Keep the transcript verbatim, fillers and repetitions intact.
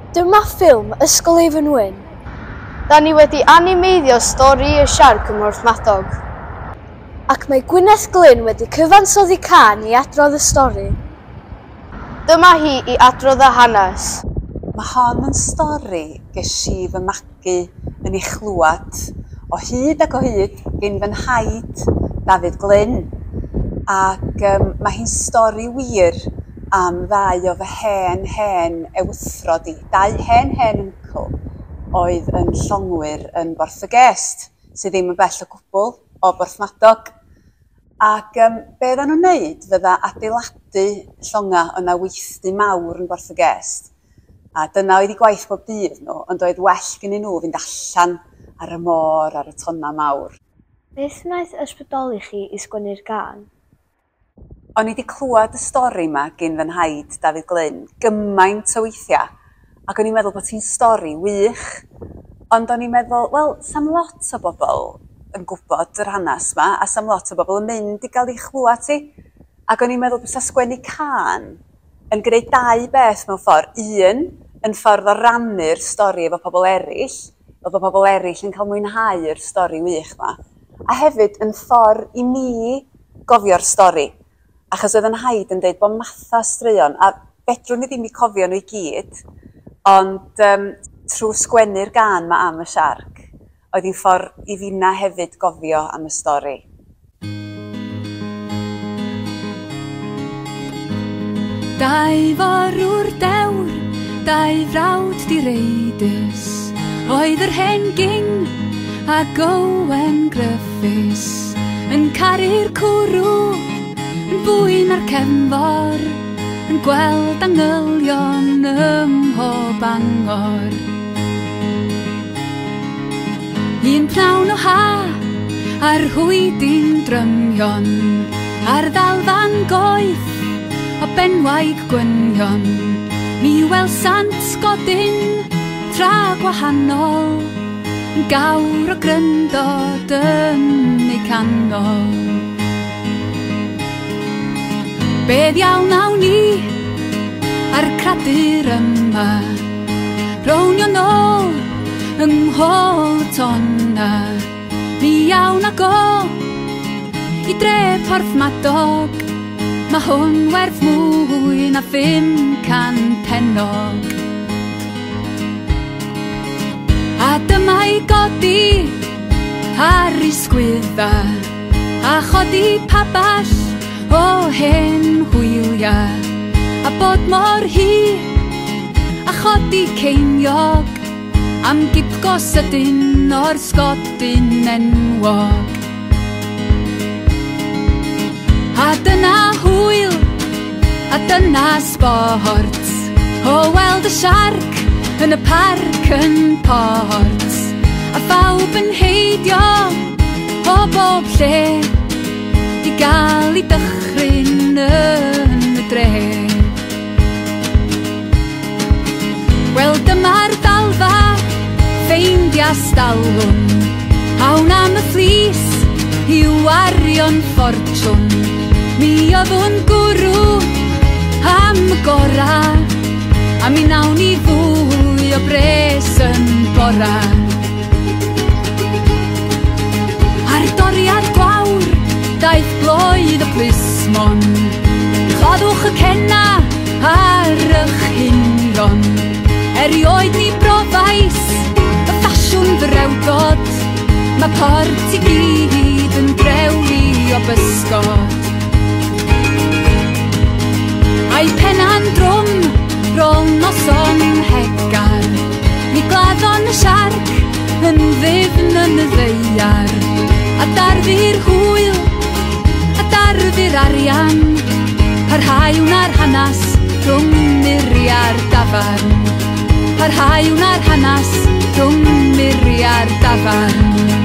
Dyma ffilm Ysgol Eifion Wyn. Da ni wedi animeiddio stori y siarc ym Mhorthmadog. Ac mae Gwyneth Glyn wedi cyfansoddi cân i adrodd y stori. Dyma hi i adrodd y hanes. Mae hon yn stori ges i fy magu yn ei chlywed o hyd ac o hyd gen fy nhaid Dafydd Glyn. Ac um, mae hi'n stori wir am ddau o fy hen hen ewythrod i, dau hen hen uncle oedd yn llongwyr yn Borth y Gest, sydd ddim yn bell o gwbl o Borthmadog. Ac um, be oedden nhw'n neud fydda adeiladu llonga, o'na weithdy mawr yn Borth y Gest. A dyna oedd eu gwaith bob dydd nhw, ond oedd well gennyn nhw fynd allan ar y môr, ar y tonna mawr. Beth wnaeth ysbrydoli chi i sgwennu'r gân? O'n i wedi clywed y stori yma gyn fy nhaid Dafydd Glyn gymaint o weithiau, ac o'n i'n meddwl bod hi'n stori wych, ond o'n i'n meddwl, wel, sa'm lot o bobl yn gwybod yr hanes yma, a sa'm lot o bobl yn mynd i gael ei chlywed hi. Ac o'n i'n meddwl bysa sgwennu cân yn gwneud dau beth mewn ffordd. Un, yn ffordd o rannu'r stori efo pobl eraill, fel bod pobl eraill yn cael mwynhau'r stori wych yma. A hefyd yn ffordd i mi gofio'r stori. Achos oedd yn nhaid yn dweud bod matha straeon, a fedrwn ni ddim i cofio nhw i gyd, ond um, trwy sgwennu'r gân ma am y siarc, oedd hi'n ffordd i finna hefyd gofio am y stori. Dau forwr dewr, dau frawd direidus, oedd yr hen ging ac Owen Griffiths, yn caru'r cwrw, yn fwy na'r cefnfor, yn gweld angylion ym mhob angor. Un pnawn o ha, a'r hwydi'n drymion, a'r ddalfa'n goeth o benwaig gwynion, mi welsant sgodyn tra gwahanol, yn gawr o gryndod yn eu canol. Be ddiawl nawn ni a'r cradur yma, rownio nôl yng nghôl y tonna, mi iawn ag o i dre Porthmadog, mae hwn werth mwy na phum can pennog. A dyma'i godi ar ei sgwydda, a chodi paball o hen hwylia, a bod mor hi, a chodi ceiniog, am gipgo sydyn o'r sgodyn enwog. A dyna hwyl, a dyna sbort, o weld y siarc yn y parc yn Port, a phawb yn heidio o bob lle, i gael ei dychryn yn y dre. Wel dyma'r ddalfa, ffeindia stalwm, awn am y fflis i wario'n ffortiwn. Mi oedd o'n gwrw am y gora, a mi nawn ni fwy o bres yn bora. Ar doriad gwawr daeth bloedd y plismon, claddwch y cenna ar eich hunion. Erioed ni brofais y ffasiwn ddrewdod, mae Port i gyd yn drewi o bysgod. A'i penna'n drwm rôl noson hegar, mi gladdon y siarc yn ddyfn yn y ddaear. A darfu'r hwyl, a darfu'r arian, parhau wna'r hanas rhwng muriau'r dafarn. Parhau wna'r hanas rhwng muriau'r dafarn.